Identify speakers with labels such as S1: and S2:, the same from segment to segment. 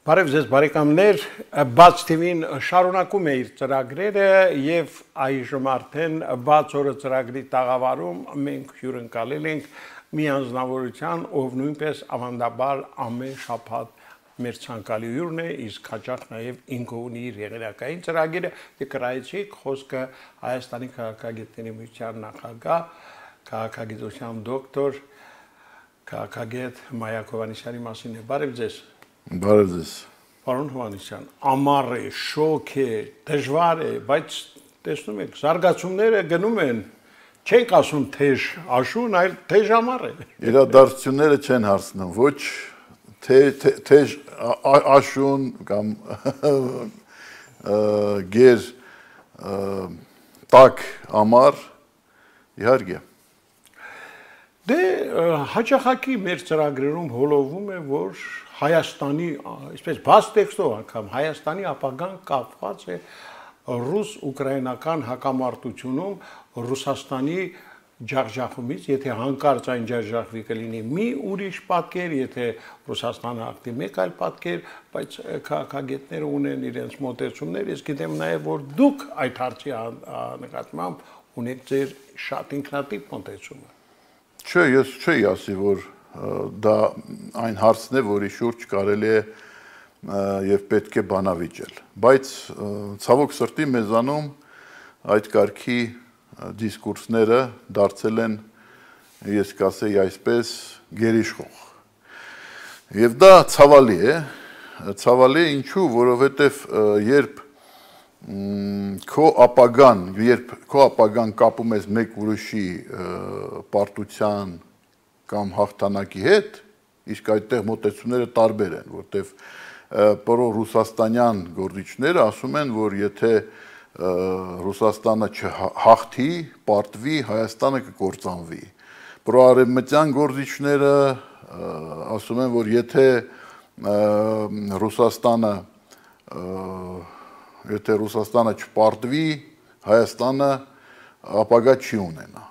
S1: Բարև ձեզ բարեկամներ, բաց TV-ն շարունակում է իր ծրագրերը եւ այժմ արդեն բաց օրը ծրագրի տաղավարում մենք հյուրընկալել ենք մի անձնավորության, ով նույնպես ավանդաբար ամեն շաբաթ մեր ցանկալի հյուրն է, իսկ հաճախ նաեւ ինքը ունի իր եղերակային ծրագիրը, եկրայեցիք խոսքը Հայաստանի քաղաքագետների միության նախագահ, քաղաքագիտության դոկտոր, քաղաքագետ Մայակ Հովհաննիսյանի մասին է։ Բարև ձեզ։
S2: Բարև ձեզ։
S1: Պարոն Հովհաննիսյան, ամառ է, շոգ է, դժվար է, բայց տեսնում եք, զարգացումները գնում են, չենք ասում թեժ աշուն, այլ թեժ ամառ է։
S2: Իրադարձությունները չեն հարցնում, ոչ թեժ աշուն կամ գեր տաք ամառ, իհարկե։
S1: Դե հաճախակի մեր ծրագրերում հոլովում է, որ Հայաստանի, այսպես բաց տեքստով անգամ Հայաստանի ապագան կապված է ռուս-ուկրաինական հակամարտությունում Ռուսաստանի ջախջախումից, եթե հանկարծ այն ջախջախվի կլինի մի ուրիշ պատկեր, եթե Ռուսաստանը ակտի մեկ այլ պատկեր, բայց քաղաքագետները ունեն իրենց մոտեցումներ, ես գիտեմ նաև, որ դուք այդ հարցի նկատմամբ ունեք ձեր շատ ինքնատիպ մոտեցումը։
S2: Չէ, ես չէի ասի, որ դա այն հարցն է, որի շուրջ կարելի է եւ պետք է բանավիճել, բայց ցավոք սրտի մեզանում այդ կարգի դիսկուրսները դարձել են, ես կասեի այսպես, գերիշխող։ Եվ դա ցավալի է, ինչու, որովհետեւ երբ քո ապագան կապում ես մեկ ուրիշի պարտության կամ հաղթանակի հետ, իսկ այդտեղ մոտեցումները տարբեր են, որտեղ պրո-ռուսաստանյան գործիչները ասում են, որ եթե Ռուսաստանը չհաղթի, պարտվի, Հայաստանը կկործանվի։ Պրո-արևմտյան գործիչները ասում են, որ եթե Ռուսաստանը չպարտվի, Հայաստանը ապագա չի ունենա։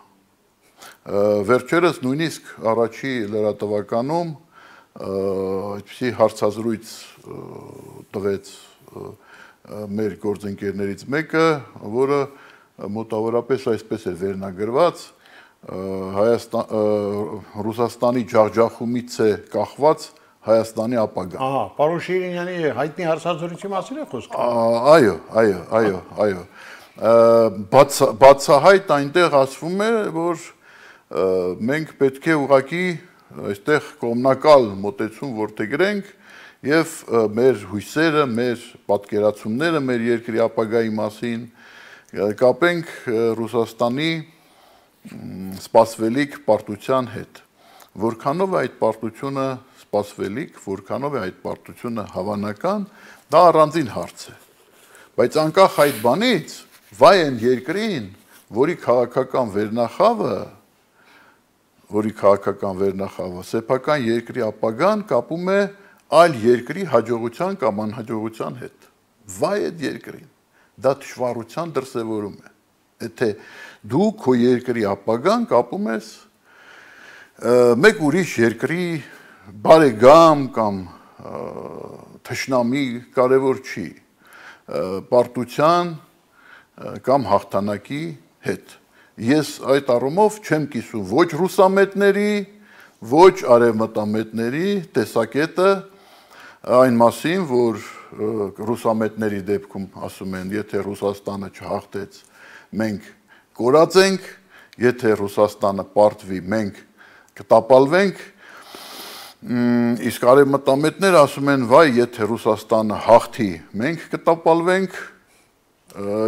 S2: Վերջերս նույնիսկ առաջի լրատվականում այդպիսի հարցազրույց տվեց մեր գործընկերներից մեկը, որը մոտավորապես այսպես էր վերնագրված, Ռուսաստանի ջախջախումից է կախված Հայաստանի ապագան։
S1: Ահա, պարոն Շիրինյանի հայտնի հարցազրույցի մասին է խոսքը։
S2: Այո։ Բացահայտ այնտեղ ասվում է, որ մենք պետք է ուղղակի այստեղ կողմնակալ մոտեցում որդեգրենք եւ մեր հույսերը, մեր պատկերացումները մեր երկրի ապագայի մասին կապենք Ռուսաստանի սպասվելիք պարտության հետ։ Որքանով է այդ պարտությունը սպասվելիք, որքանով է այդ պարտությունը հավանական, դա առանձին հարց է։ Բայց անկախ այդ բանից, վայ այն երկրին, որի քաղաքական վերնախավը սեփական երկրի ապագան կապում է այլ երկրի հաջողության կամ անհաջողության հետ։ Վայ այդ երկրին, դա թշվառության դրսևորում է։ Եթե դու քո երկրի ապագան կապում ես մեկ ուրիշ երկրի բարեկամ կամ թշնամի, կարևոր չի, պարտության կամ հաղթանակի հետ։ Ես այդ առումով չեմ կիսում ոչ ռուսամետների, ոչ արևմտամետների տեսակետը այն մասին, որ ռուսամետների դեպքում ասում են, եթե Ռուսաստանը չհաղթեց, մենք կորած ենք, եթե Ռուսաստանը պարտվի, մենք կտապալվենք, իսկ արևմտամետները ասում են, վայ, եթե Ռուսաստանը հաղթի, մենք կտապալվենք,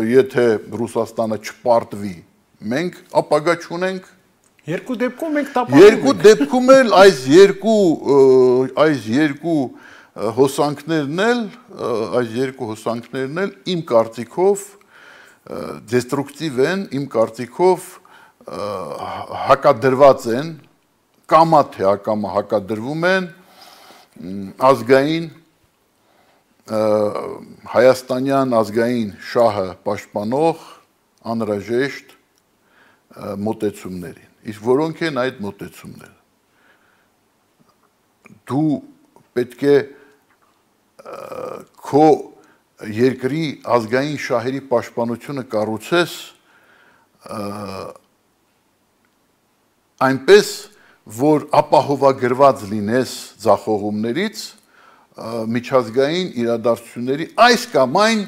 S2: եթե Ռուսաստանը չպարտվի, մենք ապագա չունենք։
S1: Երկու դեպքում մենք տապալվում ենք։
S2: Երկու դեպքում էլ այս երկու հոսանքներն էլ իմ կարծիքով դեստրուկտիվ են, իմ կարծիքով հակադրված են, կամա թե ակամա հակադրվում են ազգային հայաստանյան ազգային շահը պաշտպանող անհրաժեշտ մոտեցումներին։ Իսկ որոնք են այդ մոտեցումները։ Դու պետք է քո երկրի ազգային շահերի պաշտպանությունը կառուցես այնպես, որ ապահովագրված լինես ձախողումներից միջազգային իրադարձությունների այս կամ այն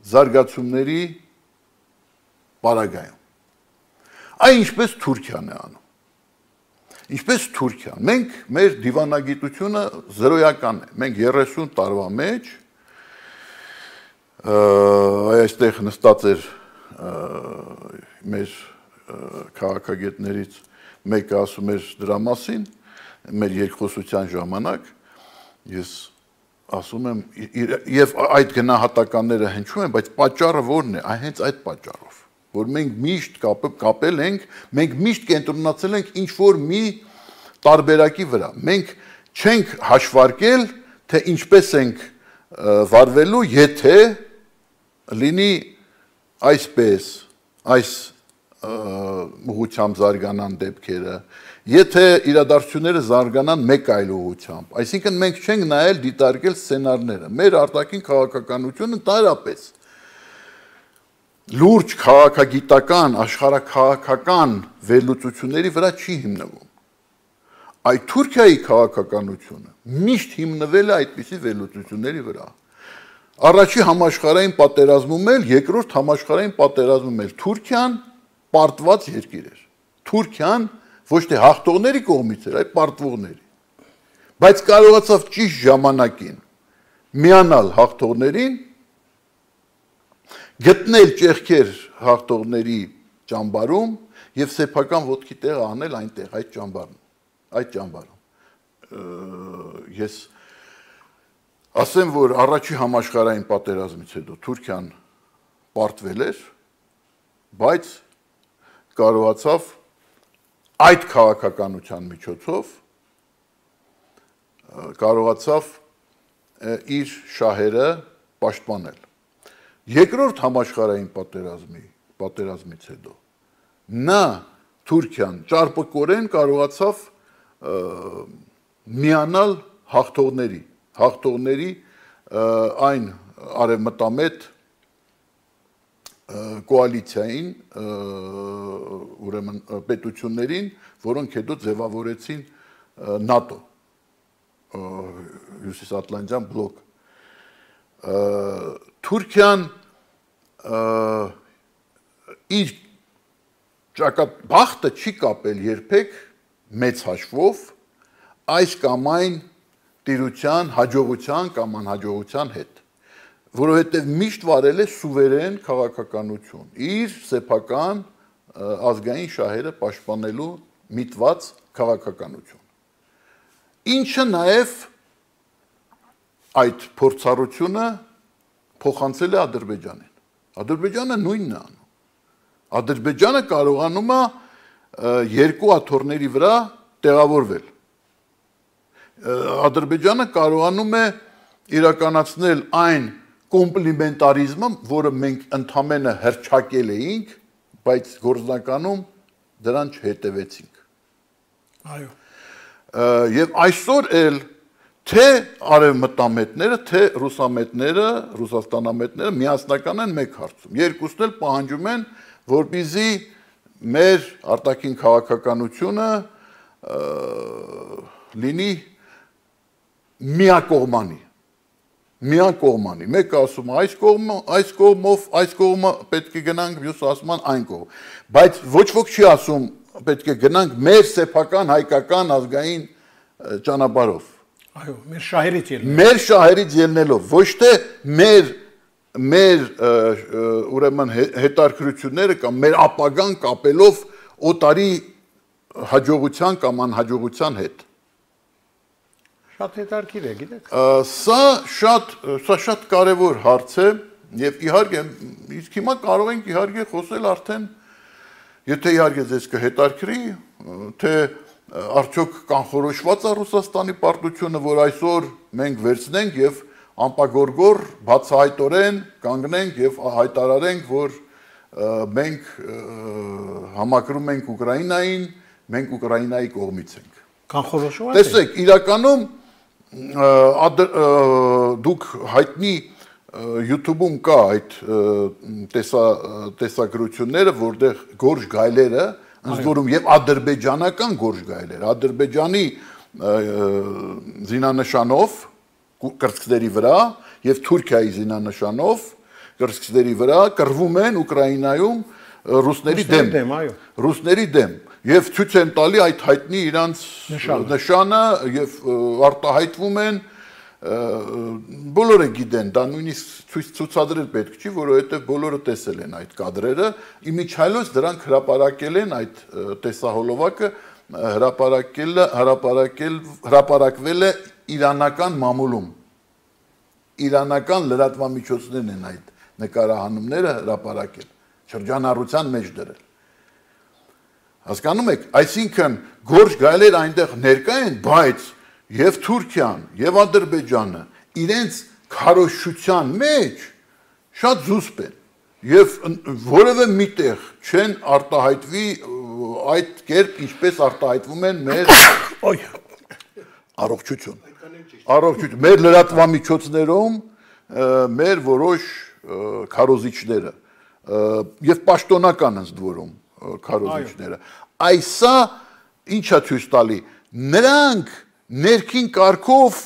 S2: զարգացումների պարագայում։ Այն ինչպես Թուրքիան է անում։ Ինչպես Թուրքիան։ Մենք մեր դիվանագիտությունը զրոյական է։ Մենք 30 տարվա մեջ այստեղ նստած էր մեր քաղաքագետներից մեկը ասում էր դրա մասին, մեր երկխոսության ժամանակ, ես ասում եմ, եւ այդ գնահատականները հնչում են, բայց պատճառը ո՞րն է, հենց այդ պատճառով, որ մենք միշտ կապել ենք, մենք միշտ կենտրոնացել ենք ինչ-որ մի տարբերակի վրա։ Մենք չենք հաշվարկել, թե ինչպես ենք վարվելու, եթե լինի այսպես, այս ուղղությամբ զարգանան դեպքերը, եթե իրադարձությունները զարգանան մեկ այլ ուղղությամբ, այսինքն մենք չենք նայել դիտարկել սցենարները, մեր արտաքին քաղաքականությունը տարապես լուրջ քաղաքագիտական, աշխարհաքաղաքական վերլուծությունների վրա չի հիմնվում։ Այդ Թուրքիայի քաղաքականությունը միշտ հիմնվել է այդպիսի վերլուծությունների վրա։ Առաջի համաշխարհային պատերազմում էլ, երկրորդ համաշխարհային պատերազմում էլ Թուրքիան պարտված երկիր էր։ Թուրքիան ոչ թե հաղթողների կողմից էր, այլ պարտվողների։ Բայց կարողացավ ճիշտ ժամանակին միանալ հաղթողներին, գտնել ճեղքեր հաղթողների ճամբարում եւ սեփական ոտքի տեղ անել այնտեղ այդ ճամբարում։ Ես ասեմ, որ առաջի համաշխարհային պատերազմից հետո Թուրքիան պարտվել էր, բայց կարողացավ այդ քաղաքականության միջոցով կարողացավ իր շահերը պաշտպանել։ Երկրորդ համաշխարհային պատերազմից հետո նա Թուրքիան ճարպկորեն կարողացավ միանալ հաղթողների այն արևմտամետ կոալիցիային, ուրեմն պետություններին, որոնք հետո ձևավորեցին ՆԱՏՕ, հյուսիսատլանտյան բլոկ։ Թուրքիան իր բախտը չի կապել երբեք մեծ հաշվով այս կամ այն տիրության, հաջողության կամ անհաջողության հետ, որովհետև միշտ վարել է սուվերեն քաղաքականություն, իր սեփական ազգային շահերը պաշտպանելու միտված քաղաքականություն։ Ինչը նաև այդ փորձառությունը փոխանցել է Ադրբեջանին։ Ադրբեջանը նույնն է անում։ Ադրբեջանը կարողանում է երկու աթոռների վրա տեղավորվել։ Ադրբեջանը կարողանում է իրականացնել այն կոմպլիմենտարիզմը, որը մենք ընդամենը հռչակել էինք, բայց գործնականում դրան չհետևեցինք։
S1: Այո։
S2: Եվ այսօր էլ թե արևմտամետները, թե ռուսամետները, ռուսաստանամետները միասնական են մեկ հարցում։ Երկուսն էլ պահանջում են, որպեսզի մեր արտաքին քաղաքականությունը լինի միակողմանի։ Մեկը ասում է այս կողմը պետք է գնանք, մյուսը ասում են այն կողմ։ Բայց ոչ ոք չի ասում պետք է գնանք մեր սեփական հայկական ազգային ճանապարհով։
S1: Այո, մեր շահերից ելնելով։
S2: Մեր շահերից ելնելով, ոչ թե մեր ուրեմն հետարքրությունները կամ մեր ապագան կապելով օտարի հաջողության կամ անհաջողության հետ։
S1: Շատ հետարքիր է, գիտեք։
S2: Սա շատ կարևոր հարց է եւ իհարկե իսկ հիմա կարող ենք իհարկե խոսել արդեն եթե իհարկե ձեզ կհետարքրի թե արդյոք կանխորոշված է Ռուսաստանի պարտությունը, որ այսօր մենք վերցնենք եւ անպագորգոր բացահայտորեն կանգնենք եւ հայտարարենք, որ մենք համակրում ենք Ուկրաինային, մենք Ուկրաինայի կողմից ենք։
S1: Կանխորոշված է։
S2: Տեսեք, իրականում դուք հայտնի YouTube-ում կա այդ տեսագրությունները, որտեղ գորշ գայլերը, ընդ որում եւ ադրբեջանական գորշ գայլեր, Ադրբեջանի զինանշանով կրծքների վրա եւ Թուրքիայի զինանշանով կրծքների վրա կռվում են Ուկրաինայում ռուսների դեմ եւ ցույց են տալի այդ հայտնի իրանց նշանը եւ արտահայտվում են բոլորը գիտեն, դա նույնիսկ ցուցադրել պետք չի, որովհետեւ բոլորը տեսել են այդ կադրերը, իմիջիայլոց դրանք հրապարակել են այդ տեսահոլովակը հրապարակվել է իրանական մամուլում, իրանական լրատվամիջոցներն են այդ նկարահանումները հրապարակել, շրջանառության մեջ դրել։ Հասկանում եք, այսինքն գորշ գայլեր այնտեղ ներկա են, բայց եւ Թուրքիան եւ Ադրբեջանը իրենց քարոզչության մեջ շատ զուսպ են եւ որևէ միտեղ չեն արտահայտվի այդ կերպ ինչպես արտահայտվում են մեր առողջություն մեր լրատվամիջոցներում մեր որոշ քարոզիչները եւ պաշտոնական ընդ որում քարոզիչները այսա ինչա ցույց տալի նրանք ներքին կարգով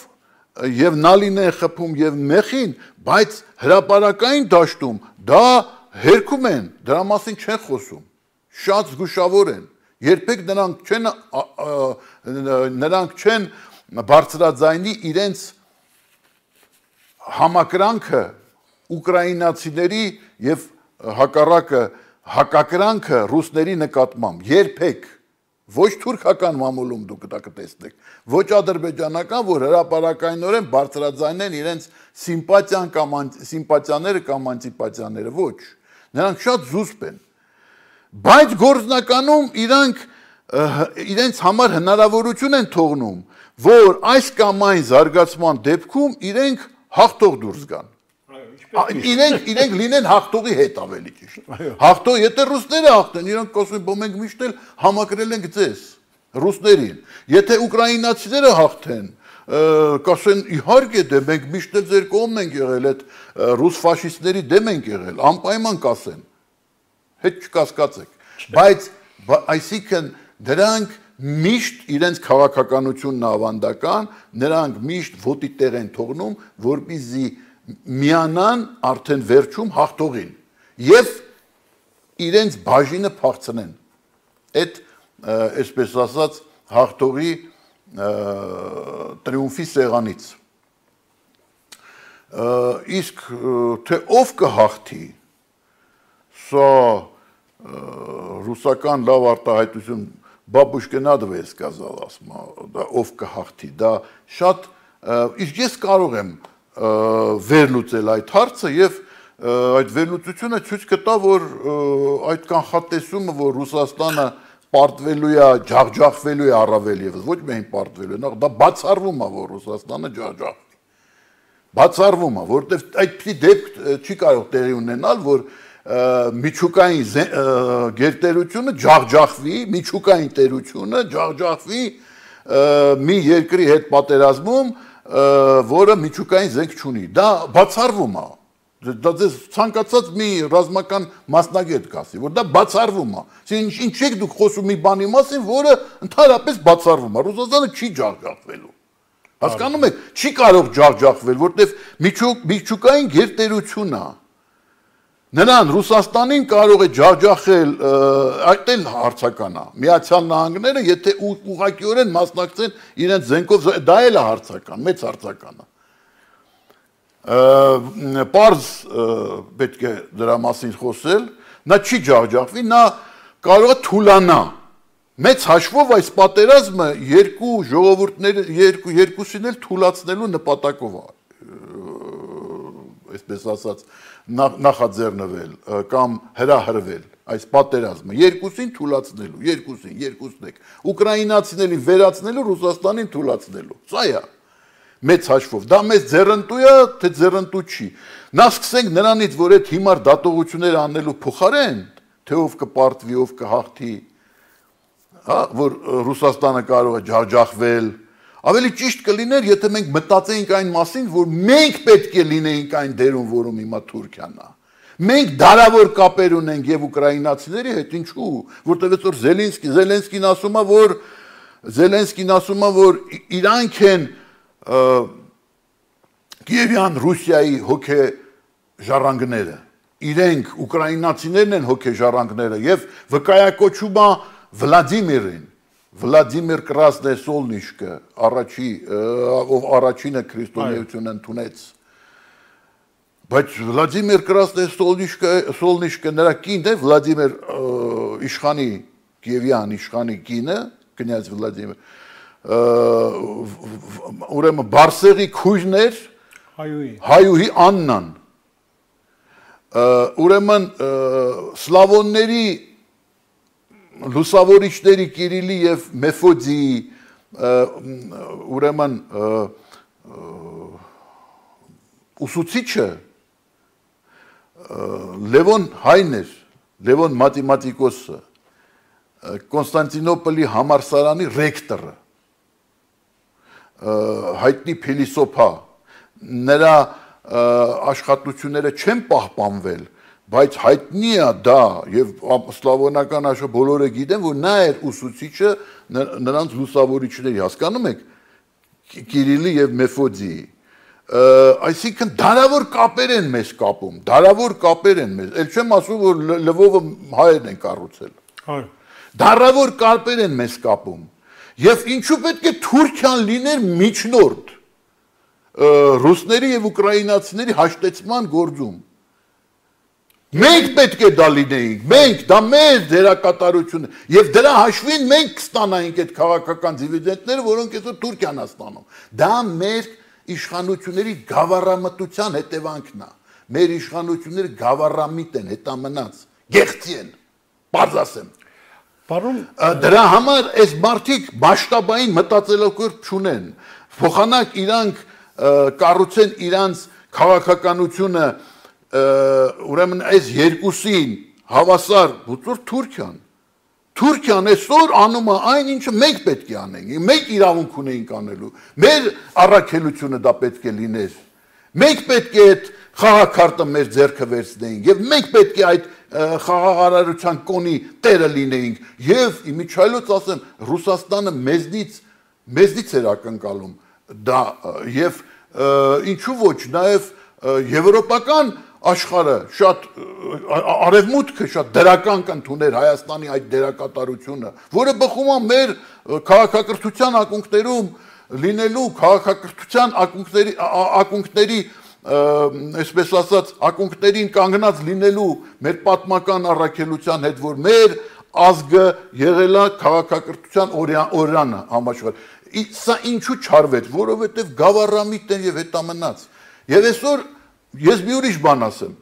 S2: եւ նալին են խփում եւ մեղին, բայց հրապարակային դաշտում դա հերքում են, դրա մասին չեն խոսում, շատ զգուշավոր են, երբեք նրանք չեն բարձրաձայնի իրենց համակրանքը ուկրաինացիների եւ հակառակը հակակրանքը ռուսների նկատմամբ, երբեք ոչ թուրքական մամուլում դուք դա կտեսնեք, ոչ ադրբեջանական, որ հրապարակայնորեն բարձրաձայնեն իրենց սիմպատիաները կամ անտիպատիաները, ոչ, նրանք շատ զուսպ են, բայց գործնականում իրենց համար հնարավորություն են թողնում, որ այս կամ այն զարգացման դեպքում իրենք հաղթող դուրս գան, իրենք լինեն հաղթողի հետ ավելի ճիշտ, հաղթող, եթե ռուսները հաղթեն, իրենք կոսում են, մենք միշտ էլ համակրել ենք ձեզ, ռուսներին, եթե ուկրաինացիները հաղթեն, կասեն իհարկե դե մենք միշտ էլ ձեր կողմն ենք եղել, այդ ռուս ֆաշիստների դեմ ենք եղել, անպայման կասեն, հետ չկասկածեք, բայց այսինքն դրանք միշտ իրենց քաղաքականությունն ավանդական, նրանք միշտ ոտի տեղ են թողնում, որպեսզի միանան արդեն վերջում հաղթողին եւ իրենց բաժինը փախցնեն այդ այսպես ասած հաղթողի տրիումֆի սեղանից իսկ թե ով կհաղթի սա ռուսական լավ արտահայտություն բաբուշկե надо է сказал ասма դա ով կհաղթի դա շատ իսկ ես կարող եմ վերլուծել այդ հարցը եւ այդ վերլուծությունը ցույց կտա որ այդ կանխատեսումը որ Ռուսաստանը պարտվելու է ջախջախվելու է առավել եւս ոչ միայն պարտվելու նախ դա բացառվում է որ Ռուսաստանը ջախջախվի բացառվում է որտեւ այդպիսի դեպք չի կարող տեղի ունենալ որ միջուկային գերտերությունը ջախջախվի միջուկային տերությունը ջախջախվի մի երկրի հետ պատերազմում որը միջուկային զենք չունի, դա բացառվում է, դա ձեզ ցանկացած մի ռազմական մասնագետ կասի, որ դա բացառվում է, ինչ եք դուք խոսում մի բանի մասին, որը ընդհանրապես բացառվում է, Ռուսաստանը չի ջախջախվելու, հասկանում եք, չի կարող ջախջախվել, որտեվ միջուկային գերտերություն է, նրան Ռուսաստանին կարող է ջախջախել այդ էլ հարցական է, Միացյալ Նահանգները, եթե ուղղակիորեն մասնակցեն իրենց զենքով, դա էլ է հարցական, մեծ հարցական է։ Պարզ պետք է դրա մասին խոսել, նա չի ջախջախվի, նա կարող է թուլանա։ Մեծ հաշվով այս պատերազմը երկու ժողովուրդները, երկուսին էլ թուլացնելու նպատակով է, այսպես ասած, նախաձեռնվել կամ հրահրվել այս պատերազմը երկուսին թուլացնելու, երկուսն եք, ուկրաինացիներին վերացնելու, Ռուսաստանին թուլացնելու, սա է, մեծ հաշվով, դա մեզ ձեռնտու է, թե ձեռնտու չի, նա սկսենք նրանից, որ այդ հիմար դատողությունները անելու փոխարեն, թե ով կպարտվի, ով կհաղթի, որ Ռուսաստանը կարող է ջախջախվել, Ավելի ճիշտ կլիներ, եթե մենք մտածեինք այն մասին, որ մենք պետք է լինեինք այն դերում, որում հիմա Թուրքիան է։ Մենք դարավոր կապեր ունենք եւ ուկրաինացիների հետ, ինչու՞, որտեղ որ Զելենսկին ասում է, որ իրանք են Կիևյան Ռուսիայի հոգեժառանգները, իրենք ուկրաինացիներն են հոգեժառանգները եւ վկայակոչում է Վլադիմիրին, Վլադիմիր Կրասնեսոլնիշկը, ով առաջինը քրիստոնեություն ընդունեց։ Բայց Վլադիմիր Կրասնեսոլնիշկը նրա կինն է, Վլադիմիր իշխանի, Կիևյան իշխանի կինը, կնյազ Վլադիմիր, ուրեմն Բարսեղի քույրն էր, Հայուհի Աննան, ուրեմն սլավոնների լուսավորիչների Կիրիլի եւ Մեֆոդիի ուրեմն ուսուցիչը Լևոն Հայն էր, Լևոն մաթեմատիկոսը, Կոնստանտինոպոլի համալսարանի ռեկտորը, հայտնի փիլիսոփա, նրա աշխատությունները չեն պահպանվել, բայց հայտնի է դա եւ սլավոնական աշխարհը բոլորը գիտեն, որ նա էր ուսուցիչը նրանց լուսավորիչների, հասկանում եք, Կիրիլի եւ Մեֆոդիի։ Այսինքն դարավոր կապեր են մեզ կապում, դարավոր կապեր են մեզ։ Էլ չեմ ասում, որ Լվովը հայերն են կառուցել։
S1: Այո։
S2: Դարավոր կապեր են մեզ կապում։ Եվ ինչու պետք է Թուրքիան լիներ միջնորդ ռուսների եւ ուկրաինացիների հաշտեցման գործում։ Մենք պետք է դա լինեինք, մենք, դա մեր դերակատարությունն է, եւ դրա հաշվին մենք կստանայինք այդ քաղաքական դիվիդենտները, որոնք այսօր Թուրքիան է ստանում։ Դա մեր իշխանությունների գավառամտության հետևանքն է։ Մեր իշխանությունները գավառամիտ են, հետամնաց, գեղցի են, բարձ ասեմ։ Դրա համար այս մարդիկ մասշտաբային մտածելակերպ չունեն, փոխանակ իրանք կառուցեն իրանց քաղաքականությունը, ուրեմն այս երկուսին հավասար բուծոր Թուրքիան այսօր անում է այն, ինչը մենք պետք է անենք, մենք իրավունք ունեինք անելու, մեր առաքելությունը դա պետք է լիներ, մենք պետք է այդ խաղաքարտը մեր ձեռքը վերցնեինք եւ մենք պետք է այդ խաղաղարարության կոնի տերը լինեինք եւ իմիջայլոց ասեմ Ռուսաստանը մեզնից էր ակնկալում դա եւ ինչու ոչ նաեւ եվրոպական աշխարհը շատ արևմուտքը շատ դրական կընդուներ Հայաստանի այդ դերակատարությունը, որը բխում է մեր քաղաքակրթության ակունքներում լինելու քաղաքակրթության ակունքների այսպես ասած ակունքներին կանգնած լինելու մեր պատմական առաքելության հետ, որ մեր ազգը եղել է քաղաքակրթության օրրանը համաշխարհ։ Սա ինչու չարվեց, որովհետև գավառամիտ են եւ հետամնաց։ Եվ այսօր ես մի ուրիշ բան ասեմ,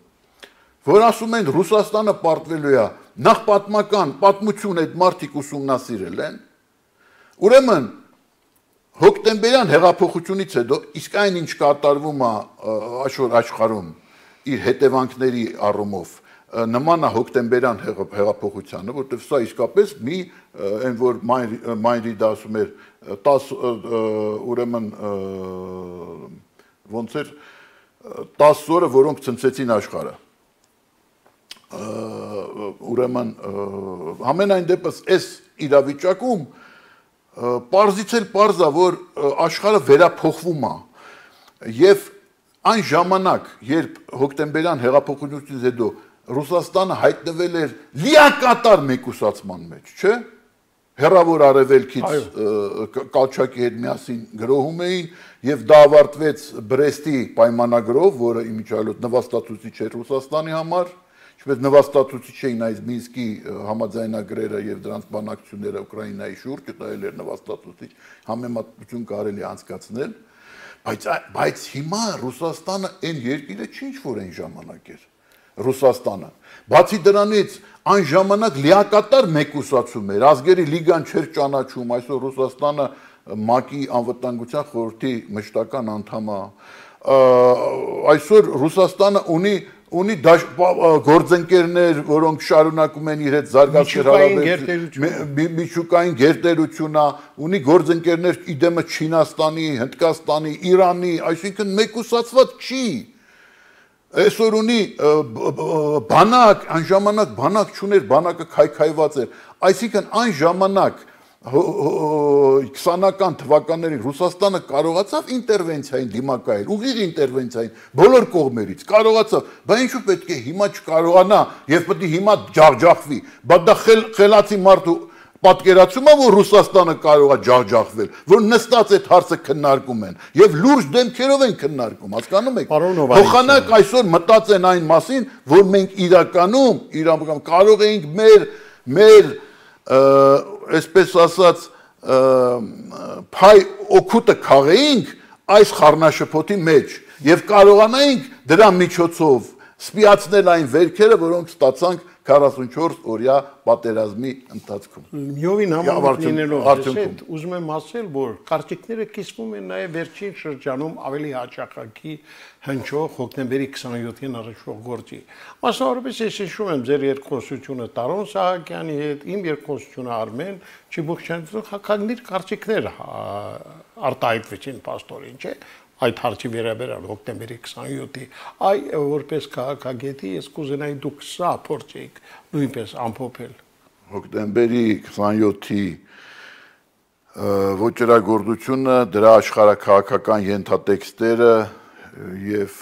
S2: որ ասում են Ռուսաստանը պարտվելու է, նախ պատմություն այդ մարդիկ ուսումնասիրել են, ուրեմն հոկտեմբերյան հեղափոխությունից հետո իսկ այն ինչ կատարվում է աշխարհ աշխարհում իր հետևանքների առումով նման է հոկտեմբերյան հեղափոխությանը, որտեղ սա իսկապես մի այն որ Մայրիդը ասում էր 10 ուրեմն ոնց էր 10 օրը, որոնք ցնցեցին աշխարհը։ Ուրեմն ամենայն դեպս այս իրավիճակում պարզից էլ պարզ է, որ աշխարհը վերափոխվում է եւ այն ժամանակ, երբ հոկտեմբերյան հեղափոխությունից հետո Ռուսաստանը հայտնվել էր լիակատար մեկուսացման մեջ, չէ՞։ Հեռավոր արևելքից Կալչակի հետ միասին գրոհում էին եւ դա ավարտվեց Բրեստի պայմանագրով, որը իմիջիայլոց նվաստացուցիչ էր Ռուսաստանի համար, ինչպես նվաստացուցիչ էին այս Մինսկի համաձայնագրերը եւ դրանց բանակցությունները Ուկրաինայի շուրջ, դա էլ էր նվաստացուցիչ, համեմատություն կարելի անցկացնել, բայց հիմա Ռուսաստանը այն երկիրը չի ինչ որ այն ժամանակ էր։ Ռուսաստանը։ Բացի դրանից այն ժամանակ լիակատար մեկուսացում էր, ազգերի լիգան չէր ճանաչում, այսօր Ռուսաստանը ՄԱԿ-ի անվտանգության խորհրդի մշտական անդամ է։ Այսօր Ռուսաստանը ունի ունի գործընկերներ, որոնք շարունակում են իր հետ զարգացնել հարաբերությունները, միջուկային գերտերություն, ունի գործընկերներ իդեմը Չինաստանի, Հնդկաստանի, Իրանի, այսինքն մեկուսացված չի։ Այսօր ունի բանակ, այն ժամանակ բանակ չուներ, բանակը քայքայված էր, այսինքն այն ժամանակ 20-ական թվականներին Ռուսաստանը կարողացավ ինտերվենցիային դիմակայել, ուղիղ ինտերվենցիային, բոլոր կողմերից կարողացավ, բայց ինչու պետք է հիմա չկարողանա եւ պետք է հիմա ջախջախվի, բայց դա խելացի մարդու պատկերացում է, որ Ռուսաստանը կարող է ջախջախվել, որ նստած այդ հարցը քննարկում են եւ լուրջ դեմքերով են քննարկում, հասկանում եք։ Փոխանակ այսօր մտածեն այն մասին, որ մենք իրական կարող էինք մեր այսպես ասած փայ օգուտը քաղեինք այս խառնաշփոթի մեջ եւ կարողանայինք դրա միջոցով սպիացնել այն վերքերը, որոնք ստացանք 44 օրյա պատերազմի ընթացքում։
S1: Միովին համաձայն լինելով հետ, ուզում եմ ասել, որ կարծիքները կիսվում են նաև վերջին շրջանում ավելի հաճախակի հնչող հոկտեմբերի 27-ին առաջվող գործի։ Մասնավորապես ես հիշում եմ ձեր երկխոսությունը Տարոն Սահակյանի հետ, իմ երկխոսությունը Արմեն Չիբուխչյանի, հակագնիր կարծիքներ արտահայտվեցին պաստորին, չէ՞։ Այդ հարցի վերաբերյալ հոկտեմբերի 27-ի, որպես քաղաքագետի ես կուզենայի դուք սա փորձեիք նույնպես ամփոփել։
S2: Հոկտեմբերի 27-ի ոճրագործությունը, դրա աշխարհաքաղաքական ենթատեքստերը եւ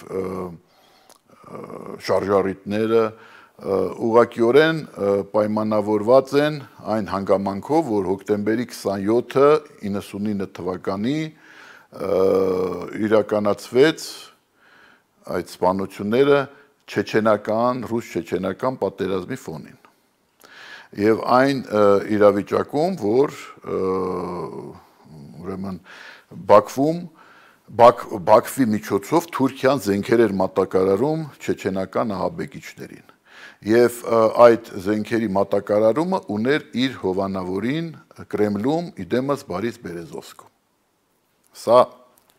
S2: շարժառիթները ուղղակիորեն պայմանավորված են այն հանգամանքով, որ հոկտեմբերի 27-ը 99 թվականի իրականացվեց այդ սպանությունները ռուս-չեչենական պատերազմի ֆոնին։ Եվ այն իրավիճակում, որ ուրեմն Բաքվի միջոցով Թուրքիան զենքեր էր մատակարարում չեչենական ահաբեկիչներին։ Եվ այդ զենքերի մատակարարումը ուներ իր հովանավորին Կրեմլում իդեմս Բարիս Բերեզովսկու։ Սա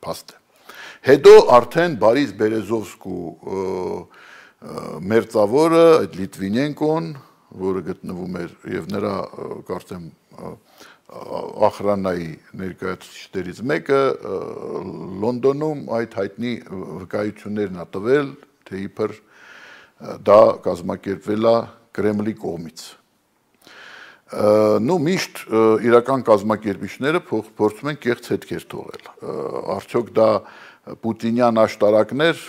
S2: փաստ է։ Հետո արդեն Բարիս Բերեզովսկու մերձավորը, այդ Լիտվինենկոն, որը գտնվում էր եւ նրա կարծեմ ախրանայի ներկայացուցիչներից մեկը Լոնդոնում այդ հայտնի վկայություններն ա տվել, թե իբր դա կազմակերպվել է Կրեմլի կողմից։ Միշտ իրական կազմակերպիչները փորձում են կեղծ հետքեր թողել։ Արդյոք դա պուտինյան աշտարակներ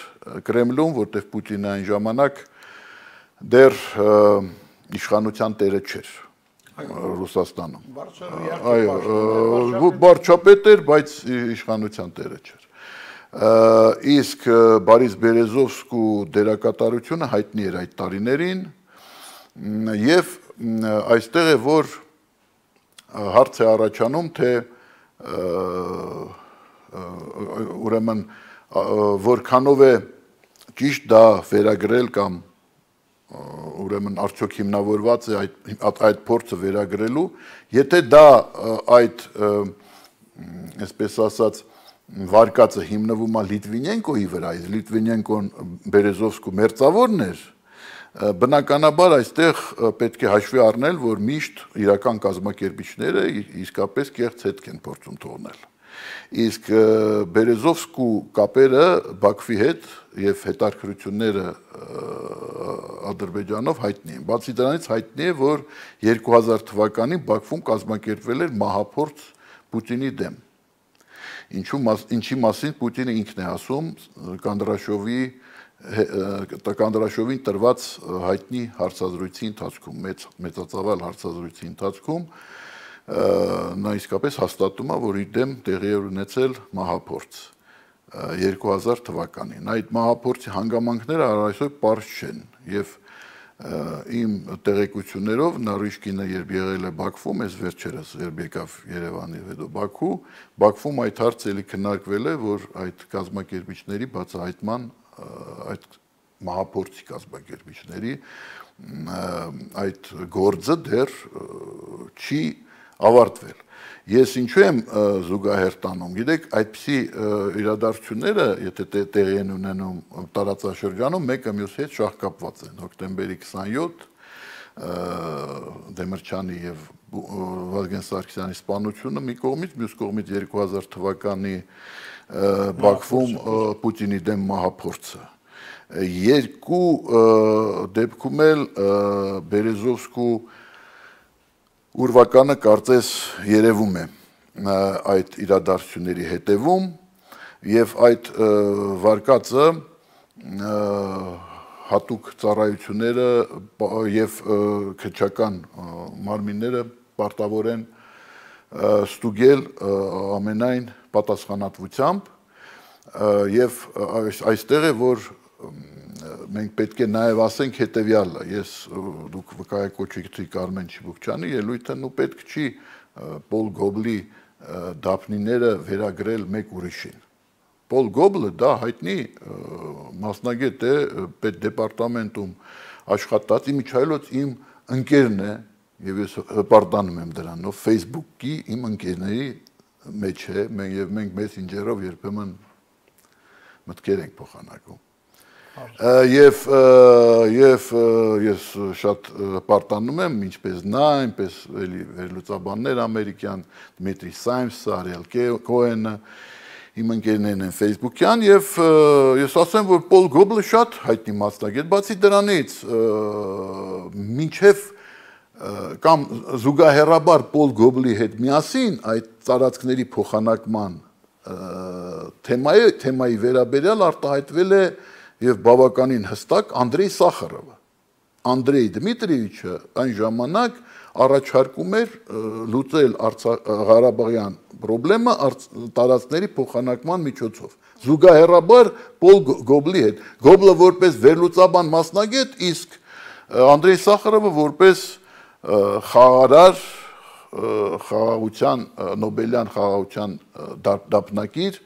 S2: Կրեմլում, որտեղ Պուտինը այն ժամանակ դեռ իշխանության տերը չէր Ռուսաստանում։ Այո, վարչապետ էր, բայց իշխանության տերը չէր։ Իսկ Բարիս Բերեզովսկու դերակատարությունը հայտնի էր այդ տարիներին եւ այստեղ է, որ հարց է առաջանում, թե ուրեմն որքանով է ճիշտ դա վերագրել կամ ուրեմն արդյոք հիմնավորված է այդ փորձը վերագրելու, եթե դա այդ այսպես ասած վարկածը հիմնվում է Լիտվինենկոյի վրա, իսկ Լիտվինենկոն Բերեզովսկու մերձավորն էր, բնականաբար այստեղ պետք է հաշվի առնել, որ միշտ իրական կազմակերպիչները իսկապես կեղծ հետք են փորձում թողնել։ Իսկ Բերեզովսկու կապերը Բաքվի հետ եւ հետաքրքրությունները Ադրբեջանով հայտնի են։ Բացի դրանից հայտնի է, որ 2000 թվականին Բաքվում կազմակերպվել էր մահափորձ Պուտինի դեմ։ Ինչի մասին Պուտինը ինքն է ասում Կանդրաշովին տրված հայտնի հարցազրույցի ընթացքում, մեծածավալ հարցազրույցի ընթացքում նա իսկապես հաստատում է, որ իր դեմ տեղի էր ունեցել մահափորձ 2000 թվականին։ Այդ մահափորձի հանգամանքները այսօր պարզ չեն եւ իմ տեղեկություններով Նարիշկինը երբ եղել է Բաքվում, այս վերջերս երբ եկավ Երևանի հետո Բաքվում այդ հարցը էլի քննարկվել է, որ այդ կազմակերպիչների բացահայտման այդ մահափորձի կազմակերպիչների այդ գործը դեռ չի ավարտվել։ Ես ինչու եմ զուգահեռ տանում, գիտեք, այդպիսի իրադարձությունները, եթե տեղի են ունենում տարածաշրջանում, մեկը մյուսի հետ շահկապված են։ Հոկտեմբերի 27 Դեմիրճյանի եւ Վազգեն Սարգսյանի սպանությունը մի կողմից, մյուս կողմից 2000 թվականի Բաքվում Պուտինի դեմ մահափորձը։ Երկու դեպքում էլ Բերեզովսկու ուրվականը կարծես երևում է այդ իրադարձությունների հետևում եւ այդ վարկածը հատուկ ծառայությունները եւ քրչական մարմինները պարտավոր են ստուգել ամենայն պատասխանատվությամբ եւ այստեղ է որ մենք պետք է նաև ասենք հետևյալը, ես դուք վկայակոչեցիք Արմեն Չիբուկչյանի ելույթը, ու պետք չի Պոլ Գոբլի դափնիները վերագրել մեկ ուրիշին։ Պոլ Գոբլը դա հայտնի մասնագետ է պետդեպարտամենտում աշխատած, իմիջայլոց իմ ընկերն է եւ ես հպարտանում եմ դրանով, Facebook-ի իմ ընկերների մեջ է, մենք Messenger-ով երբեմն մտքեր ենք փոխանակում։ Եվ ես շատ պարտանում եմ, ինչպես նա, այնպես վերլուծաբաններ ամերիկյան, Դմիտրի Սայմսը, Արիել Քոենը, իմ ընկերներն են Facebook-յան, եւ ես ասեմ, որ Պոլ Գոբլը շատ հայտնի մասնագետ, բացի դրանից, մինչև կամ զուգահեռաբար Պոլ Գոբլի հետ միասին այդ տարածքների փոխանակման թեմայի վերաբերյալ արտահայտվել է եւ բավականին հստակ Անդրեյ Սախարովը։ Անդրեյ Դմիտրիևիչը այն ժամանակ առաջարկում էր լուծել Ղարաբաղյան խնդրումը տարածքների փոխանակման միջոցով։ Զուգահեռաբար Պոլ Գոբլի հետ։ Գոբլը որպես վերլուծաբան մասնագետ, իսկ Անդրեյ Սախարովը որպես խաղարար խաղաղության Նոբելյան խաղաղության դափնակիր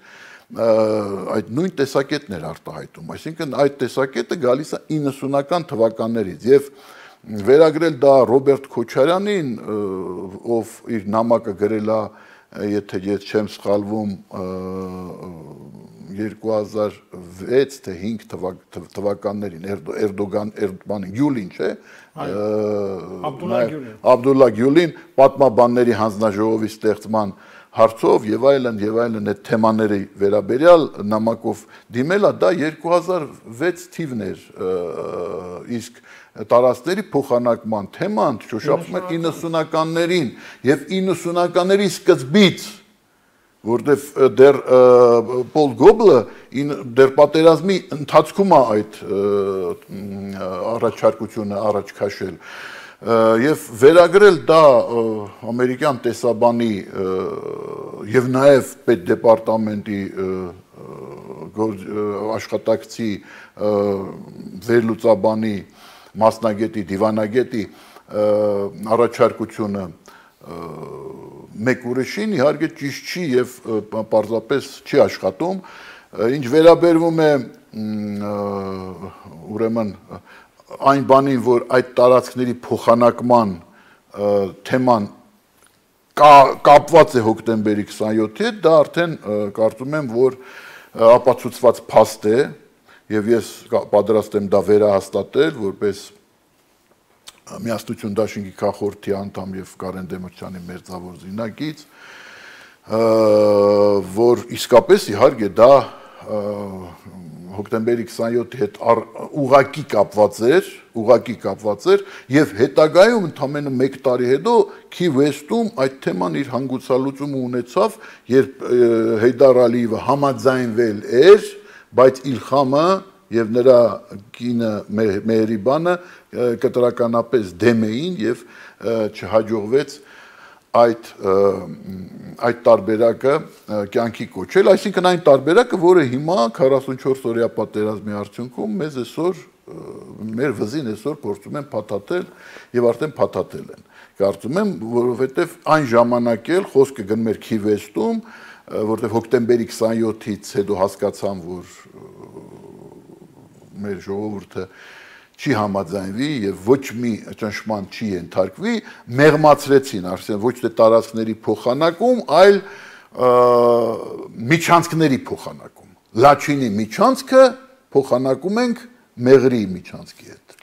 S2: այդ նույն տեսակետն էր արտահայտում, այսինքն այդ տեսակետը գալիս է 90-ական թվականներից եւ վերագրել դա Ռոբերտ Քոչարյանին, ով իր նամակը գրել է, եթե ես չեմ սխալվում, 2006 թե 5 թվականներին Էրդողանի Գյուլին, չէ՞, Աբդուլլա Գյուլին պատմաբանների հանձնաժողովի ստեղծման հարցով եւ այլն այդ թեմաների վերաբերյալ նամակով դիմելա դա 2006 թիվն էր, իսկ տարածքների փոխանակման թեման շոշափում էր 90-ականներին եւ 90-ականների սկզբից, որտեվ դեռ Պոլ Գոբլը դեռ պատերազմի ընթացքում է այդ առաջարկությունը առաջ քաշել եւ վերագրել դա ամերիկյան տեսաբանի եւ նաեւ պետդեպարտամենտի աշխատակցի վերլուծաբանի մասնագետի դիվանագետի առաջարկությունը մեկ ուրիշին իհարկե ճիշտ չի եւ պարզապես չի աշխատում, ինչ վերաբերվում է ուրեմն այն բանին, որ այդ տարածքների փոխանակման թեման կապված է հոկտեմբերի 27-ի հետ, դա արդեն կարծում եմ, որ ապացուցված փաստ է եւ ես պատրաստ եմ դա վերահաստատել, որպես Միասնություն դաշինքի քաղաքորդի անդամ եւ Կարեն Դեմիրճյանի մերձավոր զինակից, որ իսկապես իհարկե դա հոկտեմբերի 27-ի հետ ուղղակի կապված էր եւ հետագայում ընդամենը 1 տարի հետո Քի Վեսթում այդ թեման իր հանգուցալուծումը ունեցավ, երբ Հեյդար Ալիևը համաձայնվել էր, բայց Իլխամը եւ նրա կինը Մեհրիբանը կտրականապես դեմ էին եւ չհաջողվեց այդ տարբերակը կյանքի կոչել, այսինքն այն տարբերակը, որը հիմա 44 օրյա պատերազմի արդյունքում մեզ այսօր մեր վզին այսօր փորձում են փաթաթել եւ արդեն փաթաթել են։ Կարծում եմ, որովհետեւ այն ժամանակ էլ խոսքը գնում էր Քի Վեսթում, որտեղ հոկտեմբերի 27-ից հետո հասկացան, որ մեր ժողովուրդը չի համաձայնվի եւ ոչ մի ճնշման չի ենթարկվի, մեղմացրեցին, ասեն ոչ թե տարածքների փոխանակում, այլ միջանցքների փոխանակում։ Լաչինի միջանցքը փոխանակում ենք Մեղրի միջանցքի հետ։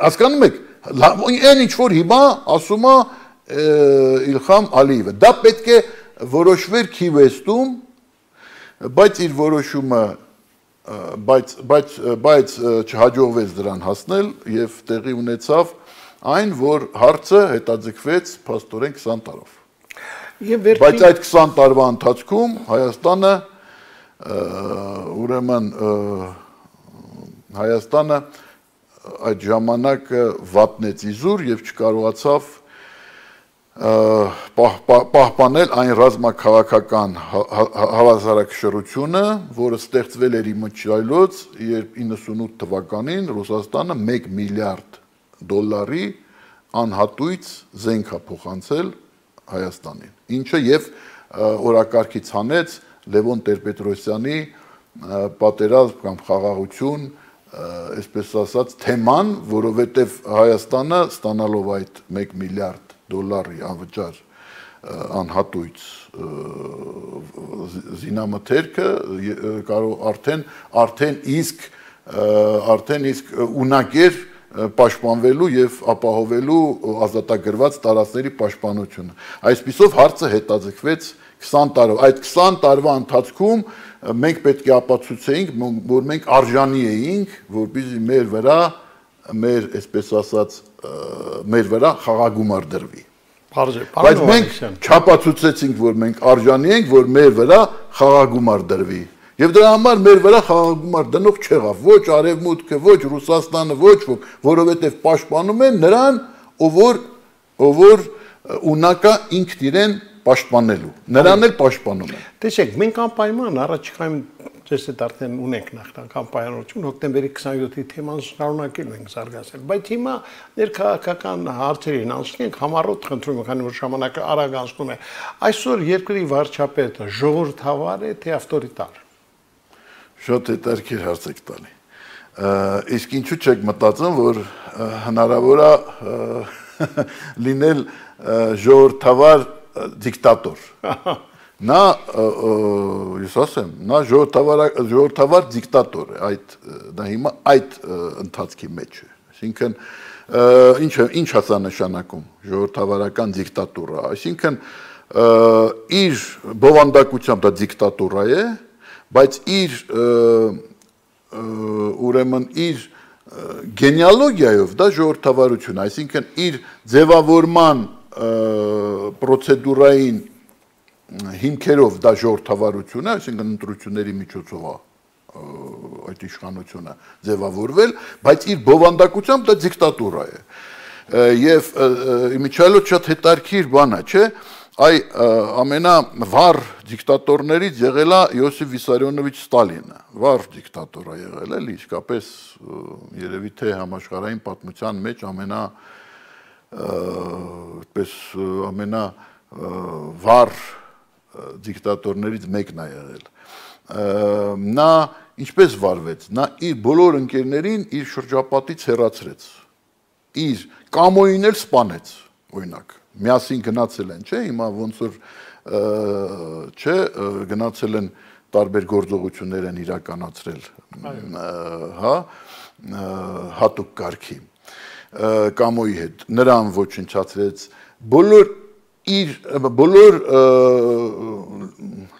S2: Հասկանում եք, այն ինչ որ հիմա ասում է Իլխամ Ալիևը, դա պետք է որոշվեր Քիվեստում, բայց իր որոշումը բայց չհաջողվեց դրան հասնել եւ տեղի ունեցավ այն, որ հարցը հետաձգվեց փաստորեն 20 տարով։ Բայց այդ 20 տարվա ընթացքում Հայաստանը ուրեմն Հայաստանը այդ ժամանակը վատնեց իզուր եւ չկարողացավ պահպանել այն ռազմաքաղաքական հավասարակշռությունը, որը ստեղծվել էր իմիջայլոց, երբ 98 թվականին Ռուսաստանը 1 միլիարդ դոլարի անհատույց զենք է փոխանցել Հայաստանին, ինչը եւ օրակարգից հանեց Լևոն Տեր-Պետրոսյանի պատերազմ կամ խաղաղություն, այսպես ասած, թեման, որովհետեւ Հայաստանը ստանալով այդ 1 միլիարդ դոլարի անվճար անհատույց զինամթերքը կարող արդեն իսկ ունակ էր պաշտպանվելու եւ ապահովելու ազատագրված տարածքների պաշտպանությունը։ Այսպիսով հարցը հետաձգվեց 20 տարով։ Այդ 20 տարվա ընթացքում մենք պետք է ապացուցեինք, որ մենք արժանի էինք, որպեսզի մեր այսպես ասած մեր վրա խաղաղագումար դրվի։ Բայց մենք չապացուցեցինք, որ մենք արժանի ենք, որ մեր վրա խաղաղագումար դրվի։ Եվ դրա համար մեր վրա խաղաղագումար դնող չեղավ ոչ Արևմուտքը, ոչ Ռուսաստանը, ոչ ոք, որովհետև պաշտպանում են նրան, ով որ ունակա ինքն իրեն պաշտպանելու։ Նրան էլ պաշտպանում են։
S1: Տեսեք, մենք անպայման առաջիկայում ձեզ հետ արդեն ունենք նախնական պայմանություն, հոկտեմբերի 27-ի թեման շարունակելու ենք զարգացնել, բայց հիմա ներքաղաքական հարցերին անցնենք, համառոտ խնդրում եմ, քանի որ ժամանակը արագ անցնում է, այսօր երկրի վարչապետը ժողովրդավար է, թե ավտորիտար։
S2: Շատ հետաքրքիր հարց եք տալի։ Իսկ ինչու չեք մտածում, որ հնարավոր է լինել ժողովրդավար դիկտատոր։ Նա, ես ասեմ, նա ժողովրդավար դիկտատոր է, դա հիմա այդ ընթացքի մեջ է։ Այսինքն, ինչ ասա նշանակում ժողովրդավարական դիկտատուրա, այսինքն իր բովանդակությամբ դա դիկտատուրա է, բայց ուրեմն իր գենեալոգիայով դա ժողովրդավարություն, այսինքն իր ձևավորման պրոցեդուրային հիմքերով դա ժողովրդավարություն է, այսինքն ընտրությունների միջոցով այդ իշխանությունը ձևավորվել, բայց իր բովանդակությամբ դա դիկտատուրա է։ Եվ իմիջիայլոց շատ հետաքրքիր բան է, չէ՞, այ ամենավառ դիկտատորներից եղել է Յոսիֆ Վիսարիոնովիչ Ստալինը, վառ դիկտատոր է եղել, էլի, իսկապես երևի թե համաշխարհային պատմության մեջ ամենավառ դիկտատորներից մեկն է եղել։ Նա ինչպես վարվեց, նա իր բոլոր ընկերներին իր շրջապատից հեռացրեց, իր կամոյին էլ սպանեց, օրինակ, միասին գնացել են, չէ, հիմա ոնց որ չէ, գնացել են տարբեր գործողություններ են իրականացրել, հա, հատուկ կարգի կամոյի հետ, նրան ոչնչացրեց, բոլոր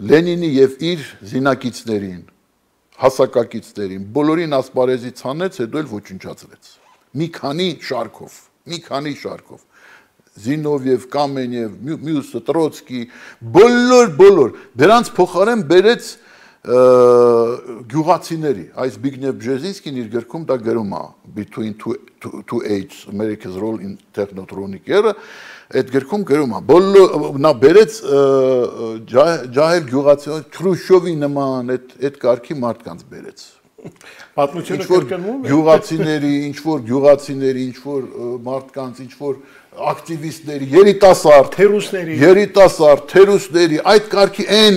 S2: Լենինի եւ իր զինակիցներին, հասակակիցներին, բոլորին ասպարեզից հանեց, հետո էլ ոչնչացրեց։ Մի քանի շարքով։ Զինովև, Կամենև, մյուսը, Տրոցկի, բոլոր, դրանց փոխարեն բերեց գյուղացիների, այս Զբիգնև Բժեզինսկին իր գրքում դա գրում է Between Two Ages, America's Role in Technotronic Era, այդ գրքում գրում է, նա բերեց ջահել գյուղացիներ, Քրուշչովի նման, այդ կարգի մարդկանց բերեց։
S1: Պատմությունը կրկնվում է։
S2: Գյուղացիների, ինչ-որ մարդկանց, ինչ-որ ակտիվիստների, երիտասարդ, թերուսների, այդ կարգի այն,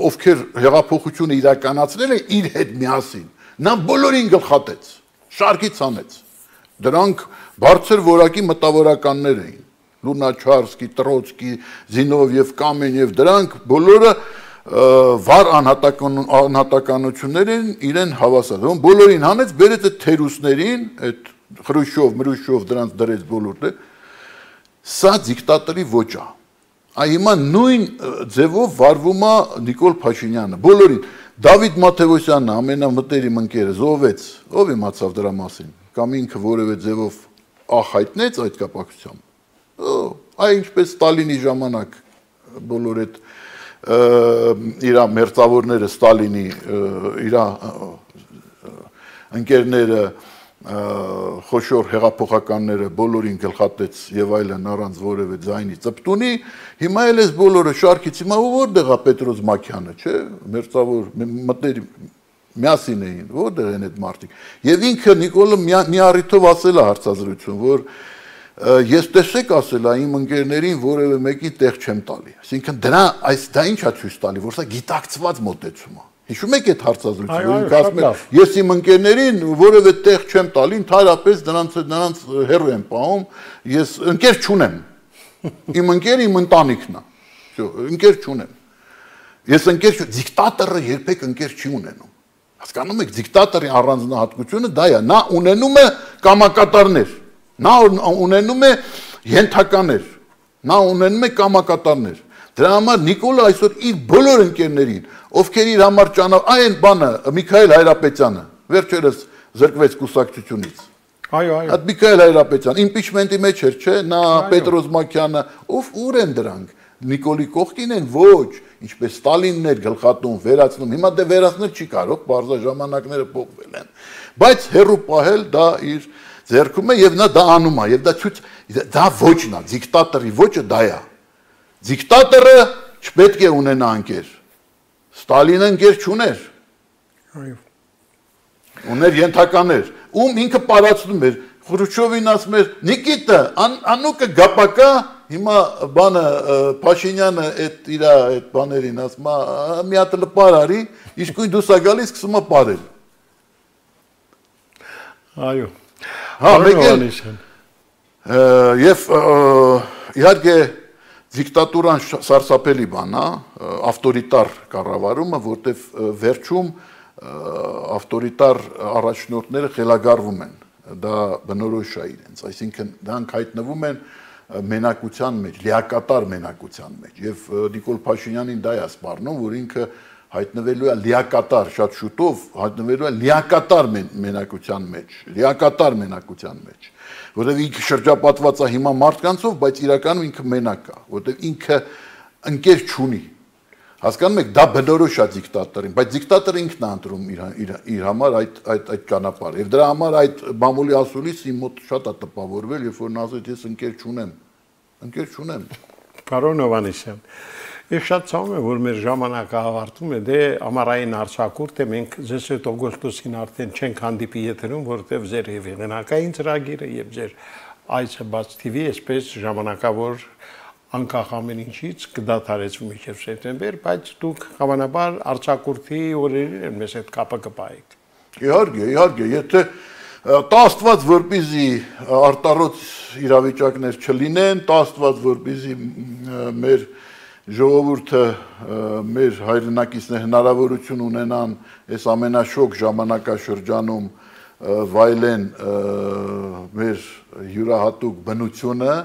S2: ովքեր հեղափոխությունը իրականացրել են իր հետ միասին, նա բոլորին գլխատեց, շարքից հանեց։ Դրանք բարձր որակի մտավորականներ էին։ Լունաչարսկի, Տրոցկի, Զինովև, Կամենև, դրանք բոլորը վառ անհատականություններ են իրեն հավասար։ Ոնց բոլորին հանեց, բերեց այդ թերուսներին, այդ Խրուշչով, Մրուշչով դրանց դրեց բոլորը։ Սա դիկտատորի ոճ է։ Այ հիմա նույն ձևով վարվում է Նիկոլ Փաշինյանը։ Բոլորին Դավիթ Մաթևոսյանը ամենամտերիմ ընկերը զոհվեց, ով իմացավ դրա մասին, կամ ինքը որևէ ձևով ախայտնեց այդ կապակցությամբ։ Այ ինչպես Ստալինի ժամանակ բոլոր այդ իր մերձավորները Ստալինի իր ընկերները խոշոր հեղափոխականները բոլորին գլխատեց եւ այլն առանց որևէ ձայնի ծպտունի, հիմա էլ էս բոլորը շարքից հիմա որտեղ է Պետրոս Մակյանը, չէ, մերձավոր մտերի միասին էին, որտեղ են այդ մարդիկ։ Եվ ինքը Նիկոլը մի առիթով ասել է հարցազրույցում, որ ես տեսեք ասել է իմ ընկերներին որևէ մեկի տեղ չեմ տալի։ Այսինքն դա ինչ է ցույց տալի, որ սա գիտակցված մոտեցում է։ Հիշում եք այդ հարցազրույցը, որ ինքը ասում է, ես իմ ընկերներին որևէ տեղ չեմ տալի, ընդհանրապես նրանց հեռու եմ պահում, ես ընկեր չունեմ։ Իմ ընկերը իմ ընտանիքն է։ Ընկեր չունեմ։ Ես ընկեր դիկտատորը երբեք ընկեր չի ունենում։ Հասկանում եք, դիկտատորի առանձնահատկությունը դա է, նա ունենում է կամակատարներ, նա ունենում է ենթականեր, նա ունենում է կամակատարներ։ Դրա համար Նիկոլը այսօր իր բոլոր ընկերներին, ովքեր իր համար այն բանը Միքայել Հայրապետյանը վերջերս զրկվեց կուսակցությունից։
S1: Այո։
S2: Այդ Միքայել Հայրապետյան իմպիչմենտի մեջ էր, չէ՞, նա Պետրոս Մակյանը, ուր են դրանք։ Նիկոլի կողքին են, ոչ, ինչպես Ստալինն էր գլխատում, վերացնում։ Հիմա դե վերացնել չի կարող, բարձր ժամանակները փոխվել են։ Բայց հերու պահել դա իր ձեռքում է եւ նա դա անում է, եւ դա ոչն է, դիկտատորի ոճը դա է։ Դիկտատորը չպետք է ունենա ընկեր։ Ստալինը ընկեր չուներ։
S1: Այո։
S2: Ուներ ենթականեր, ում ինքը պարացնում էր։ Խրուշչովին ասում էր. Նիկիտա, անուկը գապակա, հիմա բանը Փաշինյանը այդ բաներին ասում է, մի հատ լպար արի, իսկույն դուս ա գալիս սկսում է պարել։
S1: Այո։
S2: Հա, մեկ էլ եւ իհարկե դիկտատուրան սարսափելի բան է, ավտորիտար կառավարումը, որտեվ վերջում ավտորիտար առաջնորդները խելագարվում են, դա բնորոշ է իրենց, այսինքն դրանք հայտնվում են մենակության մեջ, լիակատար մենակության մեջ եւ Նիկոլ Փաշինյանին դա է սպառնում, որ ինքը հայտնվելու է լիակատար, շատ շուտով հայտնվելու է լիակատար մենակության մեջ, որտեղ ինքը շրջապատված է հիմա մարդկանցով, բայց իրականում ինքը մենակ է, որտեղ ինքը ընկեր չունի։ Հասկանում եք, դա բնորոշ է դիկտատորին, բայց դիկտատորը ինքն է ընտրում իր համար այդ ճանապարհը։ Եվ դրա համար այդ մամուլի ասուլիս իմ մոտ շատ է տպավորվել, երբ որ նա ասեց ես ընկեր չունեմ։
S1: Պարոն Հովհաննիսյան, ես շատ ցավում եմ, որ մեր ժամանակը ավարտվում է, դե ամառային արձակուրդ է, մենք ձեզ հետ օգոստոսին արդեն չենք հանդիպի եթերում, որովհետև ձեր եւ եղանակային ծրագիրը եւ ձեր Այցը բաց TV այսպես ժամանակավոր անկախ ամեն ինչից կդադարեցվի մինչև սեպտեմբեր, բայց դուք հավանաբար արձակուրդի օրերին մեզ հետ կապը կպահեք։
S2: Իհարկե, եթե տա Աստված որպեսզի արտառոց իրավիճակներ չլինեն, տա Աստված որպեսզի մեր ժողովուրդը, մեր հայրենակիցները հնարավորություն ունենան այս ամենաշոգ ժամանակաշրջանում վայելեն մեր յուրահատուկ բնությունը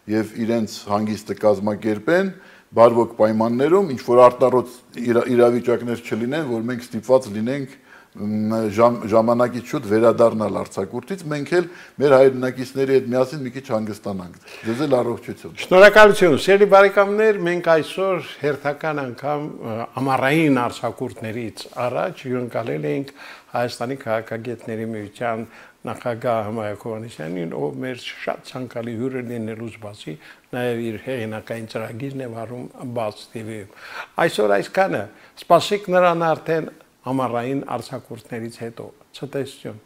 S2: եւ իրենց հանգիստը կազմակերպեն բարվոք պայմաններում, ինչ որ արտառոց իրավիճակներ չլինեն, որ մենք ստիպված լինենք ժամանակից շուտ վերադառնալ արձակուրդից, մենք էլ մեր հայրենակիցների հետ միասին մի քիչ հանգստանանք։ Ձեզ էլ առողջություն։
S1: Շնորհակալություն, սիրելի բարեկամներ, մենք այսօր հերթական անգամ ամառային արձակուրդներից առաջ հյուրընկալել ենք Հայաստանի քաղաքագետների միության նախագահ Հմայակ Հովհաննիսյանին, ով մեր շատ ցանկալի հյուրը լինելուց բացի նաև իր հեղինակային ծրագիրն է վարում Բաց TV-ում։ Այսօր այսքանը, սպասեք նրան արդեն ամառային արձակուրդներից հետո։ Ցտեսություն։